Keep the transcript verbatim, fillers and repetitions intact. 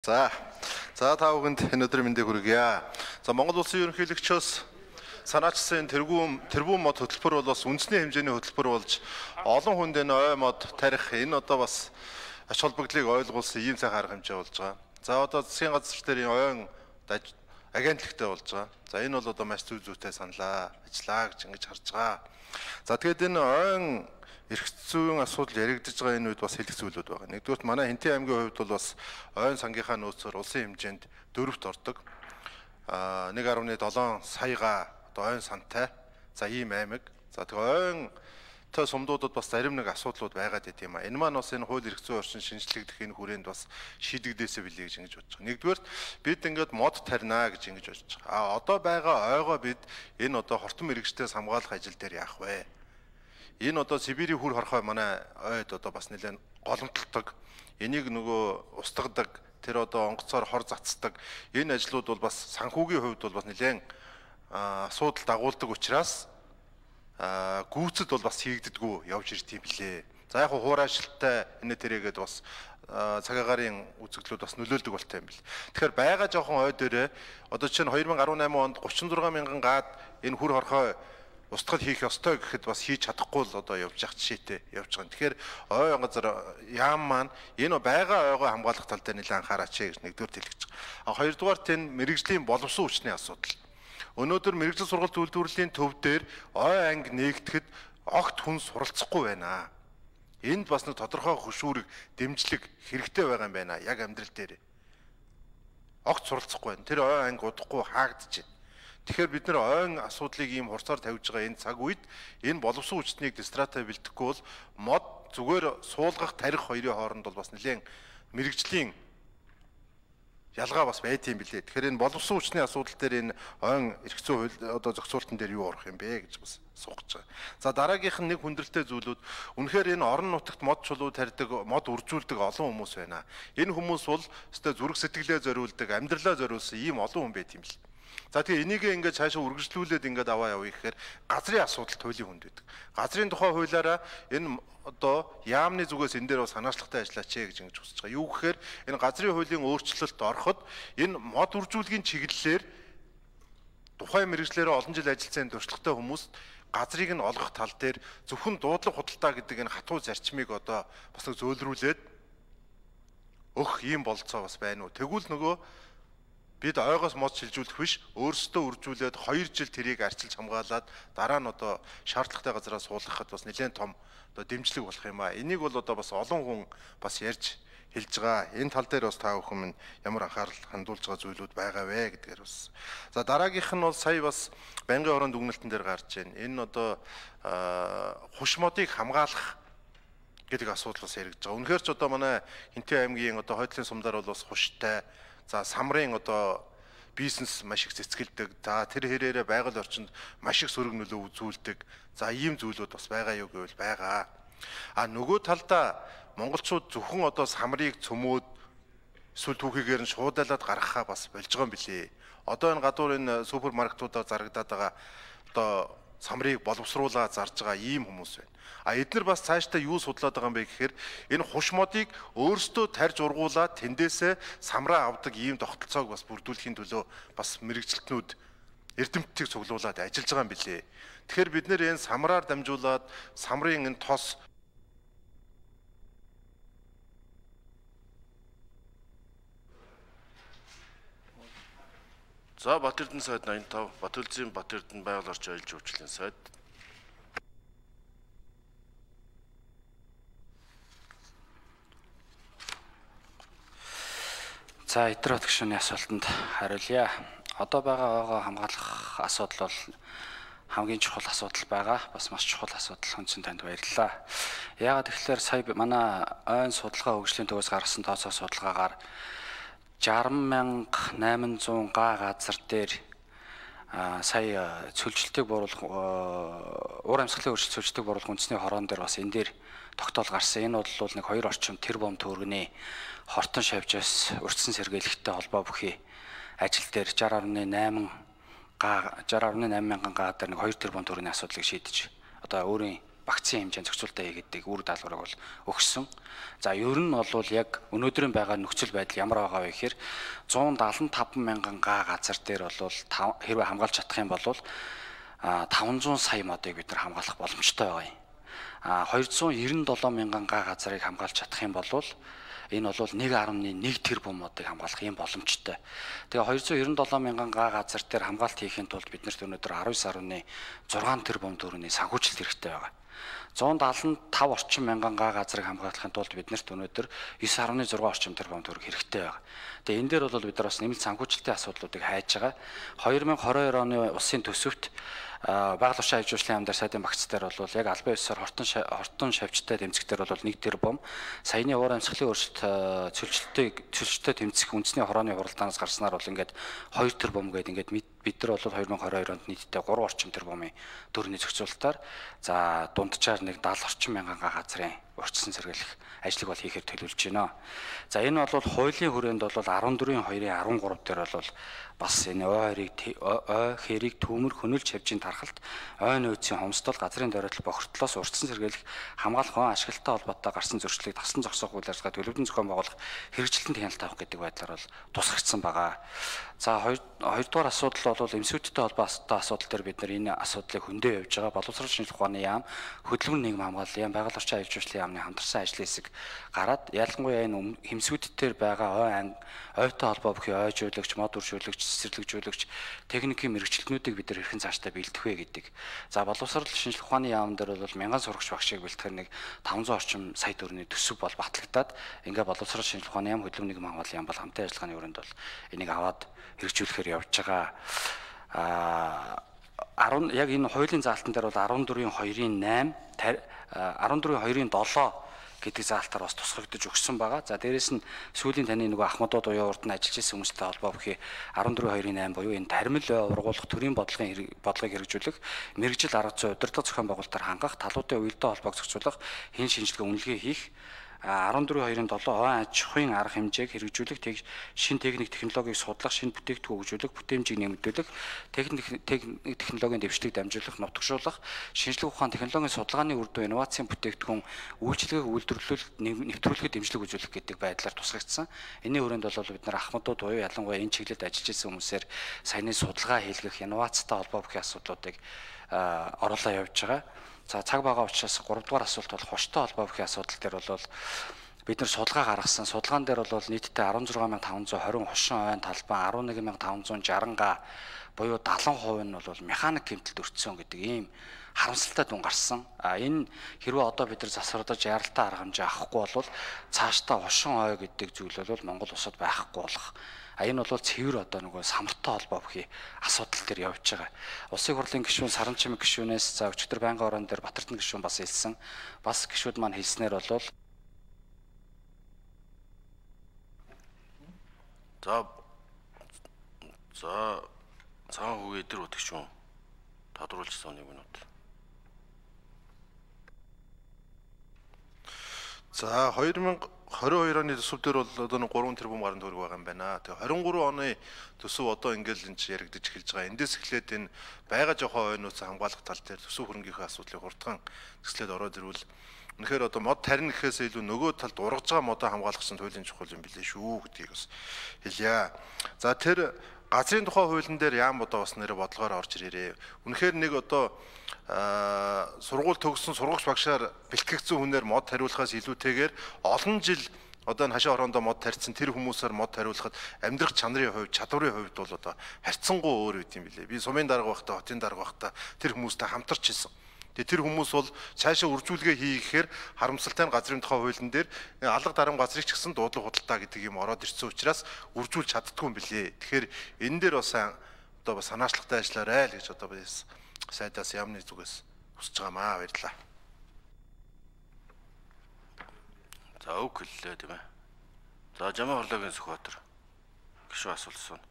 За, за та бүхэнд энэ өдрийн мэндийг хүргье. За, Монгол Улсын ерөнхийлөгчөөс санаачсан тэргүүн тэрбум мод хөтөлбөр бол бас үндэсний хэмжээний хөтөлбөр болж олон хүнд энэ ой мод тарих энэ одоо бас ач холбогдлыг ойлгуулсан ийм цаг арга хэмжээ болж байгаа. За, одоо засгийн газар дээр ойн агентлагтай болж байгаа. За, энэ бол одоо маш зүй зүйтэй саналаа, ажиллаа гэж ингэж харж байгаа. За, тэгээд энэ ойн эрх зүйн асуудал яригдж байгаа энэ үед бас хэлэх зүйлүүд байгаа. Нэгдүгээр манай Хэнтээ аймгийн хувьд бол бас ойн сангийнхаа нөөцөөр улсын хэмжээнд дөрөвт ордог. Аа нэг гаруй долоон саяга одоо ойн сантай. За ийм аймаг. За тэгээ ойнтой сумдуудад бас зарим нэг асуудлууд байгаад байт юм а. Энэ маань бас энэ хууль эрх зүйн орчин шинжлэхдэх энэ хүрээнд бас шийдэгдээсэ билээ гэж ингэж бодож байгаа. Нэгдүгээр бид ингээд мод тарина гэж ингэж бодож байгаа. А одоо байгаа ойгоо бид энэ одоо хортон мэрэгчдээс хамгаалах ажил дээр яах вэ? Энэ одоо Сибирийн хүр хорхой манай ойд одоо бас нэлээд голомтолдог. Энийг нөгөө устгадаг, тэр одоо онгоцоор хор цацдаг. Энэ ажлууд бол бас санхүүгийн хувьд бол бас нэлээд асуудал дагуулдаг учраас гүйцэд бол бас хийгддэггүй явж ирд юм блэ. За яг хуурайшилттай энэ тэрэгэд бас цагаагаарын үзэгдлүүд бас нөлөөлдөг болтой юм бэл. Тэгэхээр байгаа жоохон ой дээрээ одоо чинь две тысячи десять онд тридцать шесть мянган гаад энэ хүр хорхой устгал хийх ёстой гэхэд бас хийж чадахгүй л одоо явж явах жишээтэй явж байгаа. Тэгэхээр ой газар яам маань энэ байгаа ойгоо хамгаалах тал дээр нэлээд анхаараач гэж нэгдүгээр хэлж байгаа. А хоёрдугаар тэн мэрэгжлийн боловсон хүчний асуудал. Өнөөдөр мэрэгжил сургалт үйлдвэрлэлийн төв дээр ой анги нээгдэхэд огт хүн суралцахгүй байна. Энд бас нэг тодорхой хөшүүрэг дэмжлэг хэрэгтэй байгаа юм байна. Яг амьдрал дээр огт суралцахгүй байна. Тэр ой анги удахгүй хаагдж байна. Тэгэхээр бид нэр ойн асуудлыг ийм хурцаар тавьж байгаа энэ цаг үед энэ боловсон хүчнийг дистрата бэлтгэхгүй бол мод зүгээр суулгах тарих хоёрын хооронд бол бас нэлээд мэрэгжлийн ялгаа бас байт юм билээ. Тэгэхээр энэ боловсон хүчний асуудал дээр энэ ойн эрх зүйн хууль одоо зохицуултан дээр юу орох юм бэ гэж бас суугч байгаа. За дараагийнх нь нэг хүндрэлтэй зүйлүүд үнэхээр энэ орон нутагт мод чулуу тарьдаг, мод үржүүлдэг олон хүмүүс байна. Энэ хүмүүс бол өстой зүрх сэтгэлээ зориулдаг, амьдралаа зориулсан ийм олон хүн байт юм бэл. За тэгээ энийг ингээд цаашаа үргэлжлүүлээд ингээд аваа явъя гэхээр газрын асуудал туйлын хүнд байдаг. Газрын тухай хуулиараа энэ одоо яамны зүгээс энэ дээр бас санаачлагтай ажиллаач гэж ингэж хүсэж байгаа. Юу гэхээр энэ газрын хуулийн өөрчлөлт ороход энэ мод үржүүлгийн чиглэлээр тухайн мэргэжлээрээ олон жил ажилласан туршлагатай хүмүүс газрыг нь олгох тал дээр зөвхөн дуудлага худалдаа гэдэг энэ хатуу зарчмыг одоо бас нэг зөөлрүүлээд өх ийм болцоо бас байна уу? Тэгвэл нөгөө бид ойгоос мод шилжүүлэх биш өөрсдөө үржүүлээд хоёр жил тэрийг арчилж хамгаалаад дараа нь одоо шаардлагатай газараас суулгахад бас нэлээд том одоо дэмжлэг болох юм а. Энийг бол одоо бас олон хүн бас ярьж хэлж байгаа. Энэ тал дээр бас та бүхэн ямар анхаарал хандуулж байгаа зүйлүүд байгаа вэ гэдгээр бас. За дараагийнх нь бол сая бас байнгын орон дүгнэлтэн дээр гарч байна. Энэ одоо хуш модыг хамгаалах гэдэг асуудал бас яригдж байгаа. Үнэхээр ч одоо манай Хэнтээ аймгийн одоо хойдлын сумдаар бол бас хуштай. За самрын одоо бизнес маш их цэцгэлдэг. За тэр хэрээрээ байгаль орчинд маш их сөрөг нөлөө үзүүлдэг. За ийм зүйлүүд бас байгаа юу гэвэл байгаа. А нөгөө талдаа монголчууд зөвхөн одоо самрыг цөмөөд эсвэл түүхийгээр нь шуудалаад гаргахаа бас болж байгаа юм билээ. Одоо энэ гадуур энэ супермаркетуудаар зарагдаад байгаа одоо самрыг боловсруулаа зарж байгаа ийм хүмүүс байна. А эдгээр бас цаашдаа юу судлаад байгаа юм бэ гэхээр энэ хуш модыг өөрсдөө тарьж ургуулад тэндээсээ самраа авдаг ийм тогтолцоог бас бүрдүүлэхийн төлөө бас мэрэгчлэтнүүд эрдэмтдийг цуглуулад ажиллаж байгаа юм билээ. Тэгэхээр бид нэр энэ самраар дамжуулаад самрын энэ тос За Батэрдэн сайд номдогт тавь Батүлзийн Батэрдэн байгаль орчин аялал жуулчлалын сайд. За эдгээр гишүүний асуултанд хариулъя. Одоо байгаа ойгоо хамгаалах асуудал бол хамгийн чухал асуудал байгаа. Бас маш чухал асуудал. Хүнсэн танд баярлалаа. Яагаад тэгэхээр сая манай ойн судалгаа хөгжлийн төвөөс гаргасан тооцоо судалгаагаар шарм мянга найман зуун га газар дээр сая цөлжилтийг бууруулах уур амьсгалын өөрчлөлт цөлжилтийг бууруулах үндэсний хороон дээр бас энэ дээр тогтоол гарсан. Энэ бол нэг хоёр орчим тэрбум төгрөгийн хортон шавжаас урьдчилан сэргийлэхтэй холбоо бүхий ажил дээр шестьдесят гаруй восемь га шестьдесят гаруй восемь мянган га дээр нэг хоёр тэрбум төгрөгийн асуудлыг шийдэж одоо өөрийн вакцины хэмжээнд зохицуулалтаа хийгээд үр даалгаврыг бол өгсөн. За ер нь бол яг өнөөдрийн байгаа нөхцөл байдал ямар байгаа вэ гэхээр зуун даалан таван мянган га газар дээр бол хэрвээ хамгаалж чадах юм бол таван зуун сая модыг бид нар хамгаалах боломжтой байгаа юм. А хоёр зуун девяносто долоо мянган га газрыг хамгаалж чадах юм бол энэ бол нэг арван нэг тэрбум модыг хамгаалах юм боломжтой. Тэгээ хоёр зуун девяносто долоо мянган га газар дээр хамгаалалт хийхин тулд биднэрт өнөөдөр арван девять арван зургаан тэрбум төгрөгийн санхүүжилт хэрэгтэй байгаа. зуун даалан тав орчим мянган га газрыг хамгаалахын тулд биднэрт өнөөдөр девять арван зургаан орчим тэрбум төгрөг хэрэгтэй байгаа. Тэгээ энэ дээр бол бид нар бас нэмэлт санхүүжилтийн асуудлуудыг хайж байгаа. две тысячи двадцать two оны улсын төсөвт байгаль орчин аюулжуулалтын яамдар сайдын багц дээр бол яг албан ёсоор хортон хортон шавьчтай тэмцэгтэр бол нэг тэрбум, саяны уур амьсгалын өөрчлөлт цөлчлөлтөд цөлчлөлтөд тэмцэх үндэсний хорооны хуралдаанаас гарснаар бол ингээд хоёр тэрбум гээд ингээд бид нар бол две тысячи двадцать two онд нийтдээ гурван орчим тэрбумын төгрөгийн зохицуулалтаар за дунджаар нэг даатан орчим мянган га газрын урьдчилан сэргийлэх ажлыг бол хийхээр төлөвлөж байна. За энэ бол хуулийн хүрээнд бол fourteen two-ийн thirteen дээр бол бас энэ ой хэрийг ой хэрийг төмөр хөнөлж хавжийн тархалт ой нөөцийн хомсдол газрын дөрөлт бохирдлоос урьдчилан сэргийлэх хамгаалах он ашиглалтай холбоотой гарсан зөрчлийг тасан зогсоох үйл ажиллагаа төлөвлөдөн зохион байгуулах хэрэгжилтэнд хяналт авах гэдэг байдлаар бол тусгагдсан байгаа. За хоёрдугаар асуудал бол эмсүүттэй холбоотой асуудал дээр бид нар энэ асуудлыг хөндөж явж байгаа. Боловсрол шинжилгээ ухааны яам, хөдөлмөр нийгэм хамгааллын яам, байгаль орчин аюулжуулалтын яамны хамтарсан ажлын хэсэг гараад ялангуяа энэ эмсүүтээр байгаа ой ойтой холбоо бүхий ой жуулөгч, мод үржүүлэгч, цэцэрлэгжүүлэгч, техникийн мэрэгчлэтнүүдийг бид нар хэрхэн цаашдаа бэлдэх вэ гэдэг. За боловсрол шинжилгээ ухааны яам дээр бол мянган сурагч багшийг бэлтгэх нэг таван зуун орчим сая төгрөгийн төсөв бол батлагдаад ингээ боловсрол шинжилгээ ухааны яам, хөдөлмөр нийгэм хамгааллын яам бол хамтын ажиллагааны өрөөнд бол энийг аваад хэрэгжүүлэхээр явж байгаа. А ten яг энэ хуулийн заалтан дээр бол fourteen two-ийн eight fourteen two-ийн seven гэдэг заалтаар бас тусгагдж өгсөн байгаа. За дээрэс нь сүүлийн таны нөгөө ахмадууд уян урд нь ажиллаж исэн хүмүүстэй холбоо бүхий fourteen two-ийн eight буюу энэ таримл ургуулах төрийн бодлогын бодлогыг хэрэгжүүлэх, мэрэгжил арга зүй удирдлага зохион байгуулалтаар хангах, талуудын уялдаа холбоог зохицуулах, хэн шинжилгээ үнэлгээ хийх, fourteen two-ийн seven ой аж ахуйн арга хэмжээг хэрэгжүүлэх, шин техник технологиг судлах, шин бүтээгдэхүүн хөгжүүлэх, бүтээмжийг нэмэгдүүлэх, техник технологийн дэвшлиг дамжуулах, нутагшуулах, шинжилгээ ухаан технологийн судалгааны үр дүн инновацийн бүтээгдэхүүн үйлчилгээг үйлдвэрлэлд нэвтрүүлэхэд дэмжлэг үзүүлэх гэдэг байдлаар тусгагдсан. Энийн хүрээнд бол бид нар ахмадууд буюу ялангуяа энэ чиглэлд ажиллаж исэн хүмүүсээр саяны судалгаа хийлгэх, инновацтай холбоо бүхий асуудлуудыг оруулаа явж байгаа. За цаг бага учраас three дугаар асуулт бол хоштой холбоо бүхий асуудал дээр бол бид нар судалгаа гаргасан. Судалгаан дээр бол нийтдээ sixteen thousand five hundred twenty хошин ойн талбай eleven thousand five hundred sixty га буюу seventy percent нь бол механик гэмтэлд өртсөн гэдэг ийм харамсалтай дүн гарсан. А энэ хэрвээ одоо бид нар засвардаж яралтай арга хэмжээ авахгүй бол цаашдаа хошин ой гэдэг зүйл бол Монгол улсад байхгүй болох. А энэ бол цэвэр одоо нөгөө самартай холбоо бүхий асуудал дээр явж байгаа. Улсын хурлын гишүүн Саранчимэг гишүүнээс за өчигдөр байнгын орон дээр Батэрдэн гишүүн бас хэлсэн. Бас гишүүд маань хэлснээр бол за за цаан хүүгээ дээр утгч юм. Тодруулсан нэг минут. За two thousand twenty-two оны төсөв дээр бол одоо нэг three тэрбум гаруй төгрөг байгаа юм байна. Тэгээ twenty-three оны төсөв одоо ингээл энэ чи яригдж эхэлж байгаа. Эндээс эхлээд энэ байгаа жоохон ойнооц хамгаалах тал дээр төсөв хөрөнгөхийн асуудлыг хурдхан төслөд ороод ирвэл үнэхээр одоо мод тарин гэхээс илүү нөгөө талд ургаж байгаа модоо хамгаалах гэсэн туйлын чухал юм билээ шүү гэдгийг бас хэлье. За тэр газрын тухай хуулийн дээр яам одоо бас нэрэ бодлогоор орж ирээрээ. Үнэхээр нэг одоо сургууль төгссөн сургагч багшаар бэлтгэгдсэн хүнээр мод хариулахаас илүүтэйгээр олон жил одоо энэ хашаа ороондоо мод тарьсан тэр хүмүүсээр мод хариулахад амьдрах чанарын хувьд, чадварын хувьд бол одоо харьцангуй өөр үт юм билээ. Би сумын дарга байхдаа, хотын дарга байхдаа тэр хүмүүстэй хамтарч ирсэн. Тэгээ тэр хүмүүс бол цаашаа үржүүлгээ хийхээр харамсалтай нь газрын тухай хуулийн дээр алга дарам газрыг ч гэсэн дуудлага худалдаа гэдэг юм ороод ирсэн учраас үржүүлж чаддгүй юм билээ. Тэгэхээр энэ дээр бас одоо бас санаачлагтай ажиллаарай л гэж одоо бас сайдаас яамны зүгээс хүсэж байгаамаа. Баярлалаа. За үг хэллээ тийм ээ. За Жамаа Хорлогийн Сүхбаатар гишүүн асуулт асууна.